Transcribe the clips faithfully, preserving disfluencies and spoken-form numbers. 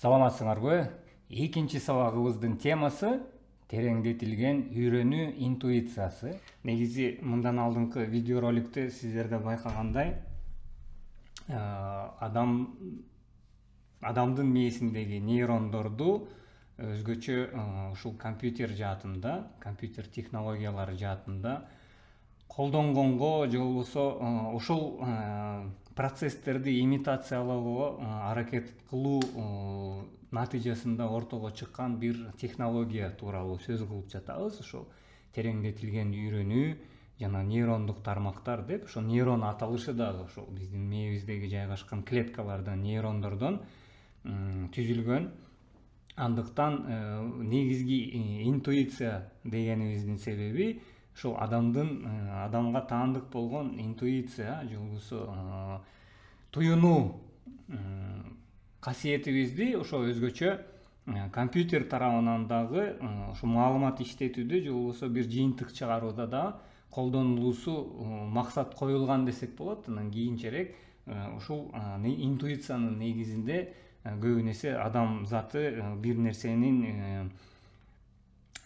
Саламатсыңарбы? Экинчи сабагыбыздын темасы тереңдетилген үйрөнүү интуициясы. Негизи мындан алдыңкы видеороликте сиздерде байкагандай, адам адамдын мээсиндеги нейрондорду өзгөчө ушул компьютер жаатында, компьютер технологиялары жаатында колдонгонго же болбосо ошол процесстерди имитациялоого аракет кылуу натыйжасында ортого чыккан бир технология тууралуу сөз кылып жатабыз. Ошол тереңдетилген үйрөнүү жана нейрондук тармактар деп, ошо нейрон аталышы дагы ошол биздин мээбиздеги жайгашкан клеткалардан, нейрондордон түзүлгөн. Андыктан негизги интуиция дегенибиздин себеби ошол адамдын адамга таандык болгон интуиция же болбосо туюнуу касиетибизди ошо өзгөчө компьютер тарабынан дагы ошо маалымат иштетүүдө же болбосо бир жыйынтык чыгарууда да колдонулуусу максат коюлган десек болот. Анан кийинчерээк ушул интуициянын негизинде көбүн эсе адам заты бир нерсенин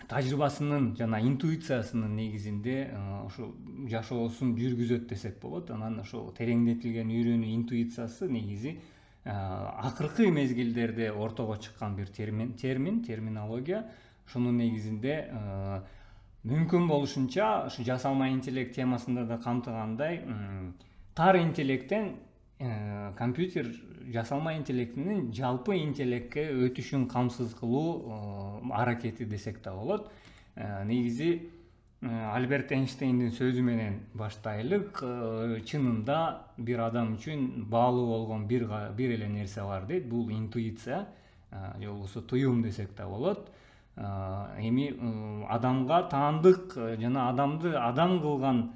тажрыйбасынын жана интуициясынын негизинде ошо жашоосун жүргүзөт десек болот. Анан ошо тереңдетилген үйрөнүү интуициясы негизи акыркы мезгилдерде ортого чыккан бир термин, термин, терминология. Ошонун негизинде мүмкүн болушунча ушу жасалма интеллект темасында да камтыгандай тар интеллекттен компьютер жасалма интеллектинин жалпы интеллектке өтүшүн камсыз кылуу аракети десек да болот. Негизи Альберт Эйнштейндин сөзү менен баштайлык. Чынында бир адам үчүн баалуу болгон бир бир эле нерсе бар дейт. Бул интуиция же болбосо туюм десек да болот. Эми адамга таандык жана адамды адам кылган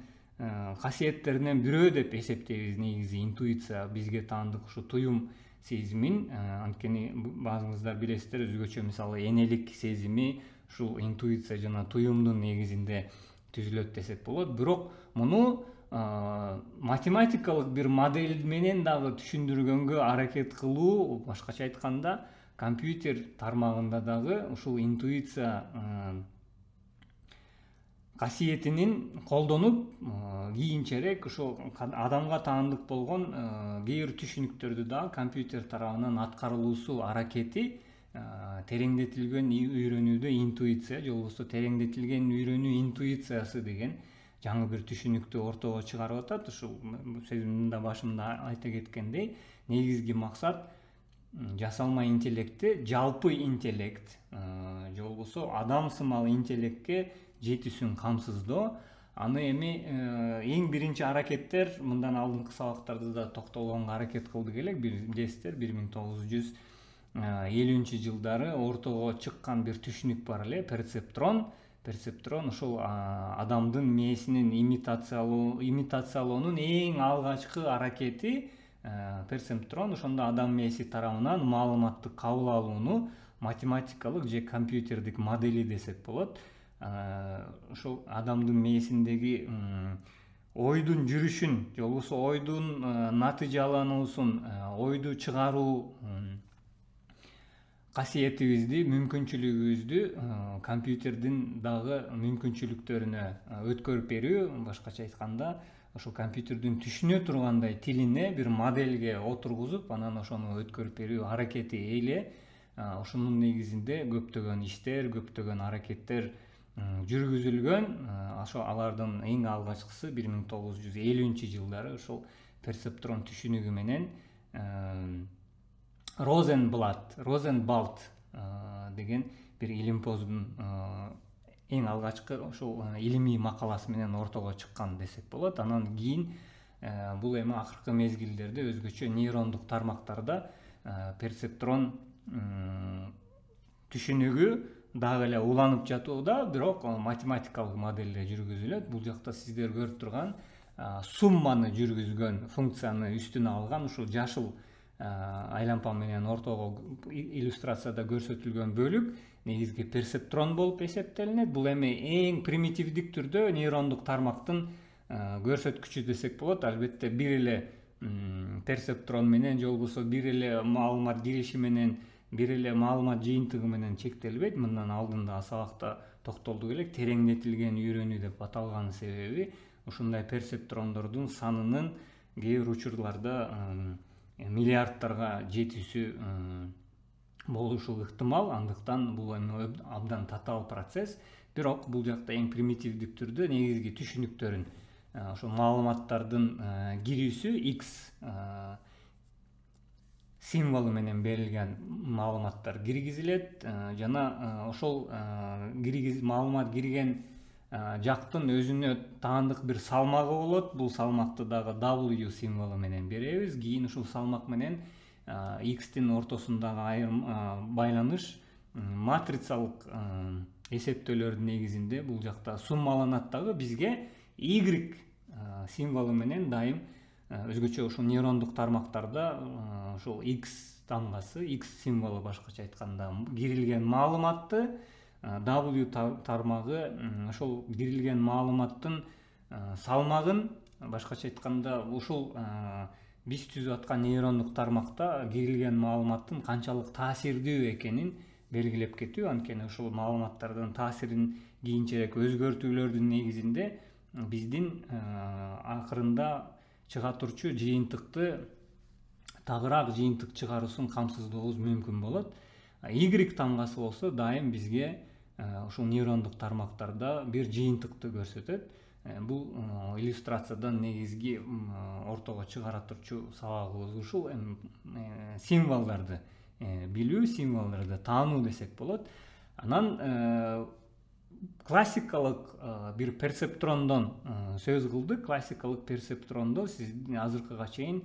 касиеттеринен бирөө деп эсептейбиз. Негизи интуиция бизге таандык ушу туюм сезимин, анткени баазыңыздар билесиздер, өзгөчө мисалы энелик сезими ушул интуиция жана туюмдун негизинде түзүлөт десек болот. Бирок муну математикалык бир модель менен дагы түшүндүргөнгө аракет кылуу, башкача айтканда, компьютер тармагында дагы ушул интуиция касиетинин колдонуп, кийинчерээк ошол адамга таандык болгон кээ бир түшүнүктөрдү дагы компьютер тарабынан аткарылуусу аракети тереңдетилген үйрөнүүдө интуиция же болбосо тереңдетилген үйрөнүү интуициясы деген жаңы бир түшүнүктү ортого чыгарып атат. Ушул сөзүмдүн да башында айта кеткендей, негизги максат жасалма интеллектти жалпы интеллект же болбосо адам сымал интеллектке жетүүсүн камсыздоо. Аны эми эң биринчи аракеттер мындан алдыңкы сабактарда да токтолгонго аракет кылдык элек. Билесиздер, бир миң тогуз жүз элүүнчү жылдары ортого чыккан бир түшүнүк бар эле, перцептрон. Перцептрон ошол адамдын мээсинин имитациялоо, имитациялоонун эң алгачкы аракети перцептрон. Ошондо адам мээси тарабынан маалыматты кабыл алууну математикалык же компьютердик модели десек болот. Ошол адамдын мээсиндеги ойдун жүрүшүн же болбосо ойдун натыйжалануусун, ойду чыгаруу касиетибизди, мүмкүнчүлүгүбүздү компьютердин дагы мүмкүнчүлүктөрүнө өткөрүп берүү, башкача айтканда, ошол компьютердин түшүнө тургандай тилине бир модельге отургузуп, анан ошону өткөрүп берүү аракети эле. Ошонун негизинде көптөгөн иштер, көптөгөн аракеттер жүргүзүлгөн. Ошо алардын эң алгачкысы бир миң тогуз жүз элүүнчү жылдары ошол перцептрон түшүнүгү менен Розенблат, Розенбалт деген бир илимпоздун эң алгачкы ошол илимий макаласы менен ортого чыккан десек болот. Анан кийин бул эми акыркы мезгилдерде өзгөчө нейрондук тармактарда перцептрон түшүнүгү дагы эле уланып жатууда, бирок математикалык моделде жүргүзүлөт. Бул жакта сиздер көрүп турган сумманы жүргүзгөн функцияны үстүнө алган ушул жашыл айлампа менен ортого иллюстрацияда көрсөтүлгөн бөлүк негизги перцептрон болуп эсептелинет. Бул эми эң примитивдик түрдө нейрондук тармактын көрсөткүчү десек болот. Албетте бир эле перцептрон менен же болбосо бир эле маалымат кириши менен бир эле маалымат жыйынтыгы менен чектелбейт. Мындан алдында сабакта токтолдук элек, тереңдетилген үйрөнүү деп аталган себеби ушундай персептрондордун санынын кээ бир учурларда миллиардтарга жетүүсү болушу ыктымал. Андыктан бул эми абдан татаал процесс. Бирок бул жакта эң примитивдик түрдө негизги түшүнүктөрүн, ошо маалыматтардын кирүүсү X символу менен берилген маалыматтар киргизилет жана ошол киргиз маалымат кирген жактын өзүнө таандык бир салмагы болот. Бул салмакты дагы W символу менен беребиз. Кийин ушул салмак менен X'тин ортосундагы айрым байланыш матрицалык эсептөөлөрдүн негизинде бул жакта суммаланат дагы. Бизге Y символу менен дайым өзгөчө ушул нейрондук тармактарда ушул X тамгасы, X символу башкача айтканда кирилген маалыматты W тармагы ошол кирилген маалыматтын салмагын, башкача айтканда ушул биз түзүп аткан нейрондук тармакта кирилген маалыматтын канчалык таасирдүү экенин белгилеп кетүү. Анткени ушул маалыматтардын таасирин кийинчерээк өзгөртүүлөрдүн негизинде биздин акырында чыга турчу жыйынтыкты, тагыраак жыйынтык чыгаруусун камсыздообуз мүмкүн болот. Y тамгасы болсо дайым бизге ушул нейрондук тармактарда бир жыйынтыкты көрсөтөт. Бул иллюстрациядан негизги ортого чыгара турчу сабагыбыз ушул символдорду билүү, символдорду таануу десек болот. Анан классикалык бир персептрондон сөз кылдык. Классикалык персептрондо сиз азыркыга чейин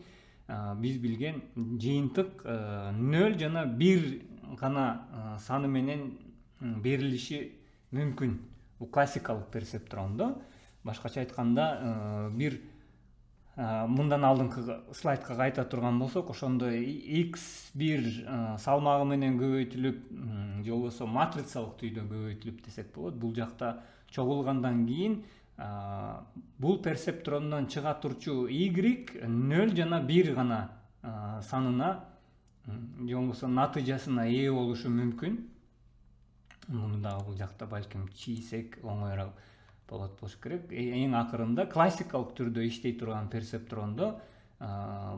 биз билген жыйынтык нөл жана бир гана саны менен берилиши мүмкүн. Бул классикалык персептрондо. Башкача айтканда бир мындан алдыңкы слайдка кайта турган болсок, ошондо X бир салмагы менен көбөйтүлүп, же болбосо матрицалык түрдө көбөйтүлүп десек болот. Бул жакта чогулгандан кийин бул персептрондон чыга турчу Y нөл жана бир гана санына, же болбосо натыйжасына ээ болушу мүмкүн. Муну дагы бул жакта балким чийсек оңоюраак болот болуш керек. Эң акырында классикалык түрдө иштей турган персептрондо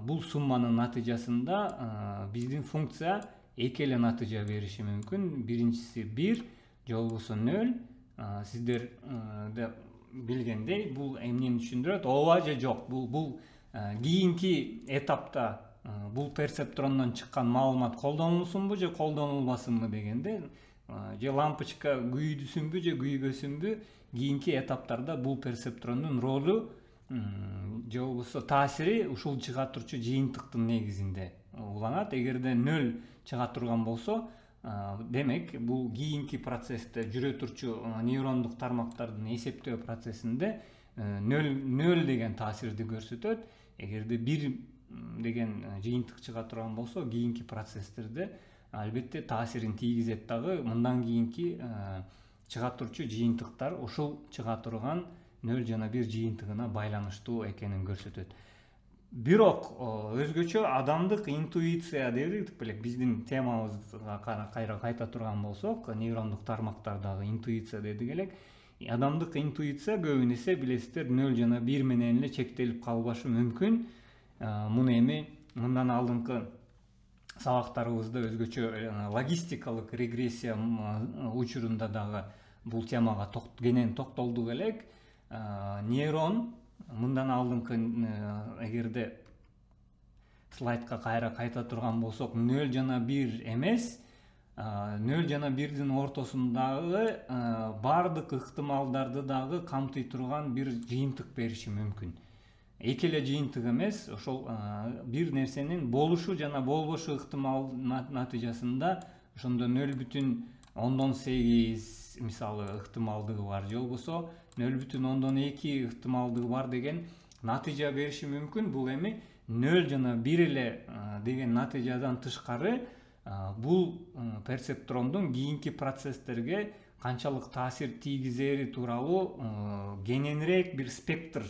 бул сумманын натыйжасында биздин функция эки эле натыйжа бериши мүмкүн. Биринчиси бир, же болбосо нөл. Сиздер билгендей, бул эмнени түшүндүрөт? Ооба же жок. Бул бул кийинки этапта бул персептрондон чыккан маалымат колдонулсунбу же колдонулбасынбы дегенде, же лампочка күйдүсүнбү же күйбөсүнбү, кийинки этаптарда бул персептрондун ролу же болбосо таасири ушул чыга турчу жыйынтыктын негизинде уланат. Эгерде нөл чыга турган болсо, демек бул кийинки процессте жүрө турчу нейрондук тармактардын эсептөө процессинде нөл деген таасирди көрсөтөт. Эгерде бир деген жыйынтык чыга турган болсо, кийинки процесстерде албетте таасирин тийгизет дагы. Мындан кийинки чыга турчу жыйынтыктар ушул чыга турган нөл жана бир жыйынтыгына байланыштуу экенин көрсөтөт. Бирок өзгөчө адамдык интуиция дедик белек, биздин темабызга кайра кайта турган болсок, нейрондук тармактардагы интуиция дедик элек. Адамдык интуиция көбүн эсе билесиздер нөл жана бир менен эле чектелип калбашы мүмкүн. Муну эми мындан алдыңкы сабактарыбызда өзгөчө логистикалык регрессия учурунда дагы бул темага кенен токтолдук элек. Нейрон мындан алдыңкы, эгерде слайдка кайра кайта турган болсок, нөл жана бир эмес, нөл жана бирдин ортосундагы бардык ыктымалдарды дагы камтый турган бир жыйынтык бериши мүмкүн. Эки эле жыйынтык эмес, ошол бир нерсенин болушу жана болбошу ыктымал натыйжасында ошондо нөл бүтүн ондон сегиз мисалы ыктымалдыгы бар, же болбосо нөл бүтүн ондон эки ыктымалдыгы бар деген натыйжа бериши мүмкүн. Бул эми нөл жана бир эле деген натыйжадан тышкары бул персептрондун кийинки процесстерге канчалык таасир тийгизери тууралуу кененирээк бир спектр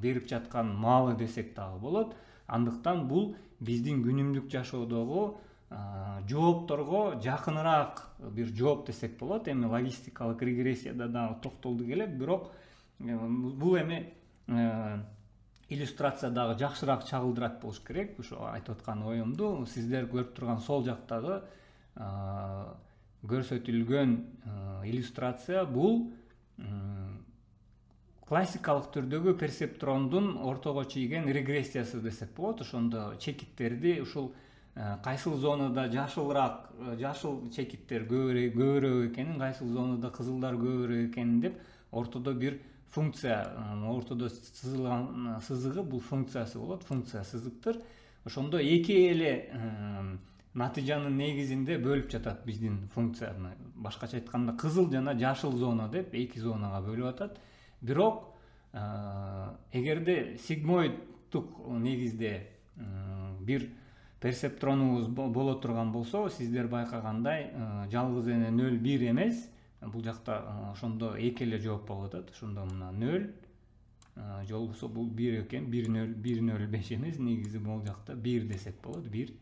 берип жаткан маалы десек дагы болот. Андыктан бул биздин күнүмдүк жашоодогу жоопторго жакыныраак бир жооп десек болот. Эми логистикалык регрессияда дагы токтолдук эле, бирок бул эми иллюстрация дагы жакшыраак чагылдырат болуш керек. Ошо айтып аткан оюмду сиздер көрүп турган сол жактагы көрсөтүлгөн иллюстрация бул классикалык түрдөгү персептрондун ортого чийген регрессиясы десек болот. Ошондо чекиттерди ушул кайсыл зонада жашылыраак, жашыл чекиттер көбүрөөк экенин, кайсыл зонада кызылдар көбүрөөк экенин деп ортодо бир функция, ортодо сызылган сызыгы бул функциясы болот, функция сызыктыр. Ошондо эки эле натыйжанын негизинде бөлүп жатат биздин функцияны. Башкача айтканда кызыл жана жашыл зона деп эки зонага бөлүп атат. Бирок эгерде сигмоиддук негизде бир персептронубуз боло турган болсо, сиздер байкагандай жалгыз эле нөл бир эмес, бул жакта ошондо эки эле жооп болуп атат. Ошондо мына нөл же болбосо бул бир экен, бир нөл бир нөл беш эмес, негизи бул жакта бир десек болот, бир.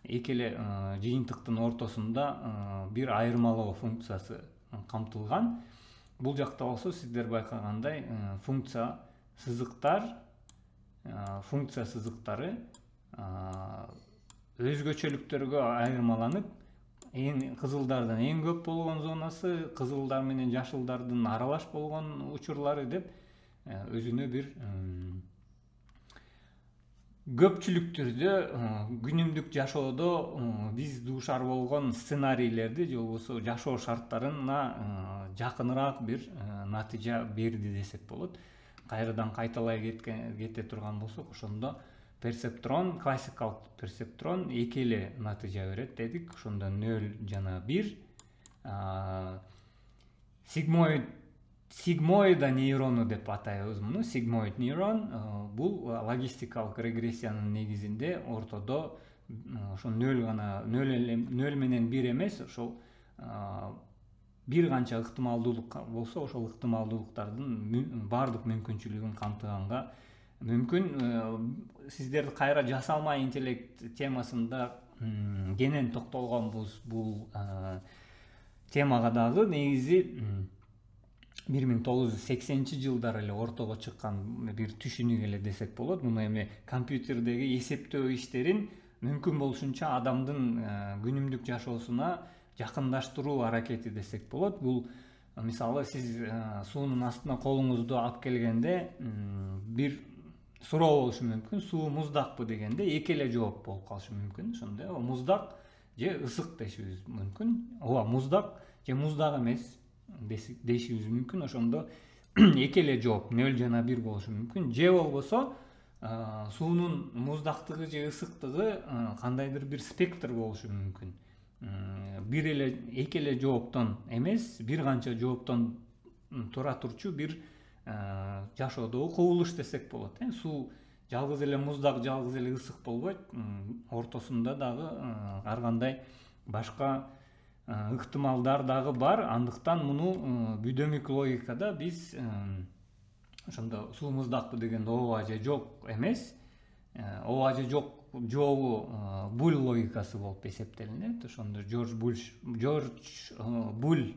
Эки эле жыйынтыктын ортосунда бир айырмалоо функциясы камтылган. Бул жакта болсо сиздер байкагандай функция сызыктар, функция сызыктары өзгөчөлүктөргө айырмаланып, эң кызылдардын эң көп болгон зонасы, кызылдар менен жашылдардын аралаш болгон учурлары деп өзүнө бир көпчүлүк түрдө күнүмдүк жашоодо биз дуушар болгон сценарийлерди же болбосо жашоо шарттарына жакыныраак бир натыйжа берди десек болот. Кайрадан кайталай кете турган болсок, ошондо персептрон, классикалык персептрон эки эле натыйжа берет дедик. Ошондо нөл жана бир. Сигмоид сигмоида нейрону деп атайбыз муну. Сигмоид нейрон бул логистикалык регрессиянын негизинде ортодо ошо нөл гана, нөл менен бир эмес, ошол бир канча ыктымалдуулук болсо, ошол ыктымалдуулуктардын баардык мүмкүнчүлүгүн камтыганга мүмкүн. Сиздер кайра жасалма интеллект темасында кенен токтолгонбуз бул темага дагы. Негизи бир миң тогуз жүз сексенинчи жылдары эле ортого чыккан бир түшүнүк эле десек болот. Муну эми компьютердеги эсептөө иштерин мүмкүн болушунча адамдын күнүмдүк жашоосуна жакындаштыруу аракети десек болот. Бул мисалы сиз суунун астына колуңузду алып келгенде бир суроо болушу мүмкүн. Суу муздакпы дегенде эки эле жооп болуп калышы мүмкүн. Ошондо муздак же ысык дешибиз мүмкүн. Ооба, муздак же муздак эмес дешибиз мүмкүн. Ошондо эки эле жооп нөл жана бир болушу мүмкүн. Же болбосо суунун муздактыгы же ысыктыгы кандайдыр бир спектр болушу мүмкүн. Бир эле эки эле жооптон эмес, бир канча жооптон тура турчу бир жашоодогу кубулуш десек болот. Суу жалгыз эле муздак, жалгыз эле ысык болбойт. Ортосунда дагы ар кандай башка ыктымалдар дагы бар. Андыктан муну бүдөмүк логикада биз ошондо суу муздакпы дегенде ооба же жок эмес, ооба же жок жообу Буль логикасы болуп эсептелинет. Ошондо Жорж Буль Жорж Буль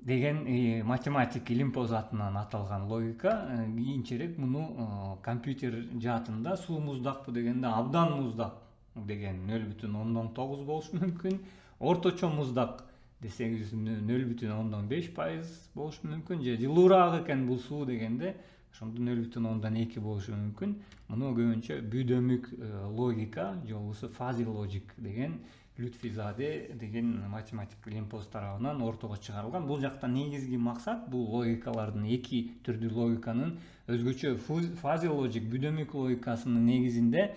деген математик илимпоз атынан аталган логика. Кийинчерээк муну компьютер жаатында суу муздакпы дегенде абдан муздак деген нөл бүтүн ондон тогуз болушу мүмкүн. Орточо муздак десеңиз нөл бүтүн ондон беш пайыз болушу мүмкүн. Же жылуураак экен бул суу дегенде ошондо нөл бүтүн ондон эки болушу мүмкүн. Муну көбүнчө бүдөмүк логика же болбосо фази логик деген Лютфизаде деген математик илимпоз тарабынан ортого чыгарылган. Бул жакта негизги максат бул логикалардын, эки түрдүү логиканын өзгөчө фази логик, бүдөмүк логикасынын негизинде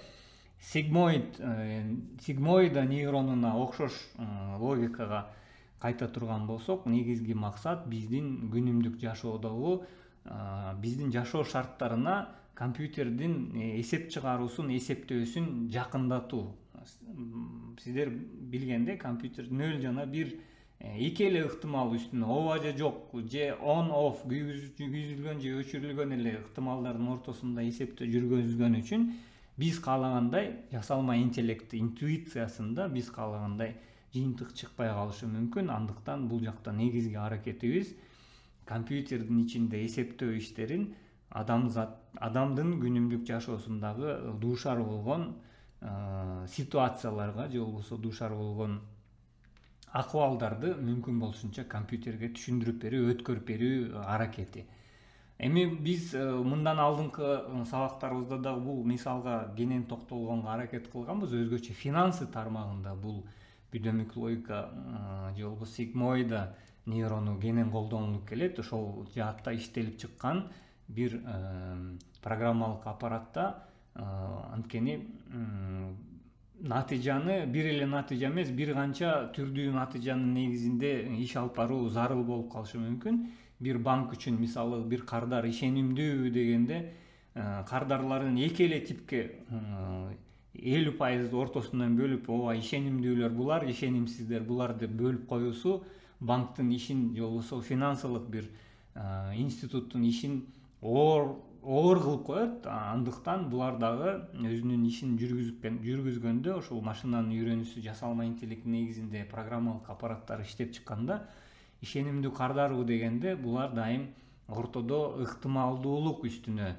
сигмоид сигмоида нейронуна окшош логикага кайта турган болсок, негизги максат биздин күнүмдүк жашоодогу биздин жашоо шарттарына компьютердин эсеп чыгаруусун, эсептөөсүн жакындатуу. Сиздер билгенде компьютер нөл жана бир эки эле ыктымал үстүнө ооба же жок же on off күйгүзүлгөн же өчүрүлгөн эле ыктымалдардын ортосунда эсептөө жүргүзгөн үчүн биз каалагандай жасалма интеллект интуициясында биз каалагандай жыйынтык чыкпай калышы мүмкүн. Андыктан бул жакта негизги аракетибиз компьютердин ичинде эсептөө иштерин адамзат адамдын күнүмдүк жашоосундагы дуушар болгон ситуацияларга же болбосо дуушар болгон акыбалдарды мүмкүн болушунча компьютерге түшүндүрүп берүү, өткөрүп берүү аракети. Эми биз мындан алдыңкы сабактарыбызда дагы бул мисалга кенен токтолгонго аракет кылганбыз. Өзгөчө финансы тармагында бул бүдөмүк логика же болбосо сигмоида нейрону кенен колдонулуп келет. Ошол жаатта иштелип чыккан бир программалык аппаратта анткени натыйжаны бир эле натыйжа эмес, бир канча түрдүү натыйжанын негизинде иш алып баруу зарыл болуп калышы мүмкүн. Бир банк үчүн мисалы бир кардар ишенимдүүбү дегенде кардарларын эки эле типке элүү пайыз ортосунан бөлүп, ооба ишенимдүүлөр булар, ишенимсиздер булар деп бөлүп коюусу банктын ишин же болбосо финансылык бир институттун ишин оор оор кылып коет. Андыктан булар дагы өзүнүн ишин жүргүзгөндө ошол машинанын үйрөнүүсү жасалма интеллект негизинде программалык аппараттар иштеп чыкканда ишенимдүү кардарбы дегенде булар дайым ортодо ыктымалдуулук үстүнө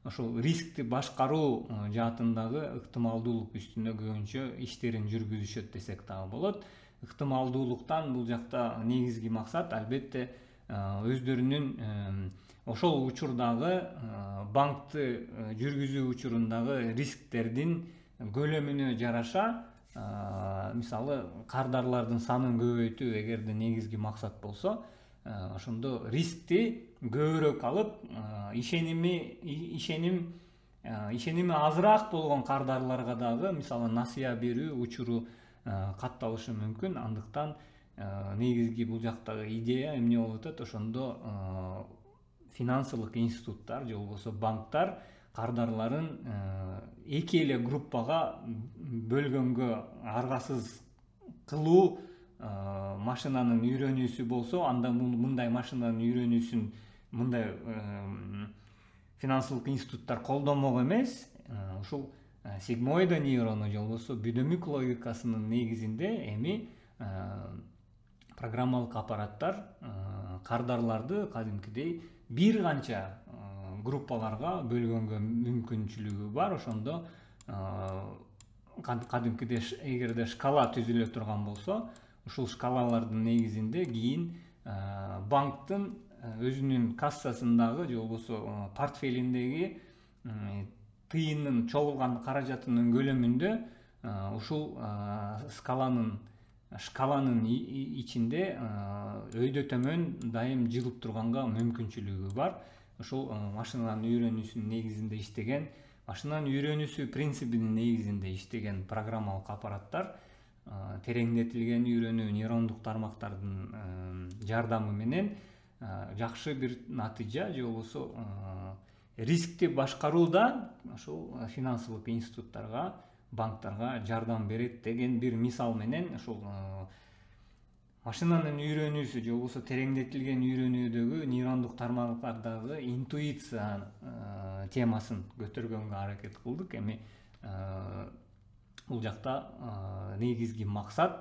ошол рискти башкаруу жаатындагы ыктымалдуулук үстүнө көбүнчө иштерин жүргүзүшөт десек дагы болот. Ыктымалдуулуктан бул жакта негизги максат албетте өздөрүнүн ошол учурдагы банкты жүргүзүү учурундагы рисктердин көлөмүнө жараша мисалы кардарлардын санын көбөйтүү эгерде негизги максат болсо, ошондо рискти көбүрөөк алып ишеними ишеним ишеними азыраак болгон кардарларга дагы мисалы насыя берүү учуру катталышы мүмкүн. Андыктан негизги бул жактагы идея эмне болуп атат? Ошондо финансылык институттар же болбосо банктар кардарларын эки эле группага бөлгөнгө аргасыз кылуу машинанын үйрөнүүсү болсо, анда мындай машинанын үйрөнүүсүн мындай финансылык институттар колдомок эмес, ушул сигмоида нейрону же болбосо бүдөмүк логикасынын негизинде эми программалык аппараттар кардарларды кадимкидей бир канча группаларга бөлгөнгө мүмкүнчүлүгү бар. Ошондо кадимкидей эгерде шкала түзүлө турган болсо, ушул шкалалардын негизинде кийин банктын өзүнүн кассасындагы же болбосо портфелиндеги тыйынын чогулган каражатынын көлөмүндө ушул скаланын шкаланын ичинде өйдө төмөн дайым жылып турганга мүмкүнчүлүгү бар. Ушул машинанын үйрөнүүсүнүн негизинде иштеген, машинанын үйрөнүүсү принцибинин негизинде иштеген программалык аппараттар тереңдетилген үйрөнүү нейрондук тармактардын жардамы менен жакшы бир натыйжа же болбосо рискти башкарууда ошол финансылык институттарга, банктарга жардам берет деген бир мисал менен ошол машинанын үйрөнүүсү же болбосо тереңдетилген үйрөнүүдөгү нейрондук тармактардагы интуиция темасын көтөргөнгө аракет кылдык. Эми бул жакта негизги максат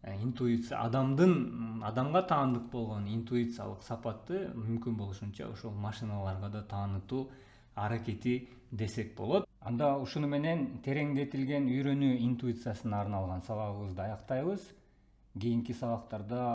интуиция, адамдын адамга таандык болгон интуициялык сапатты мүмкүн болушунча ошол машиналарга да таанытуу аракети десек болот. Анда ушуну менен тереңдетилген үйрөнүү интуициясына арналган сабагыбызды аяктайбыз. Кийинки сабактарда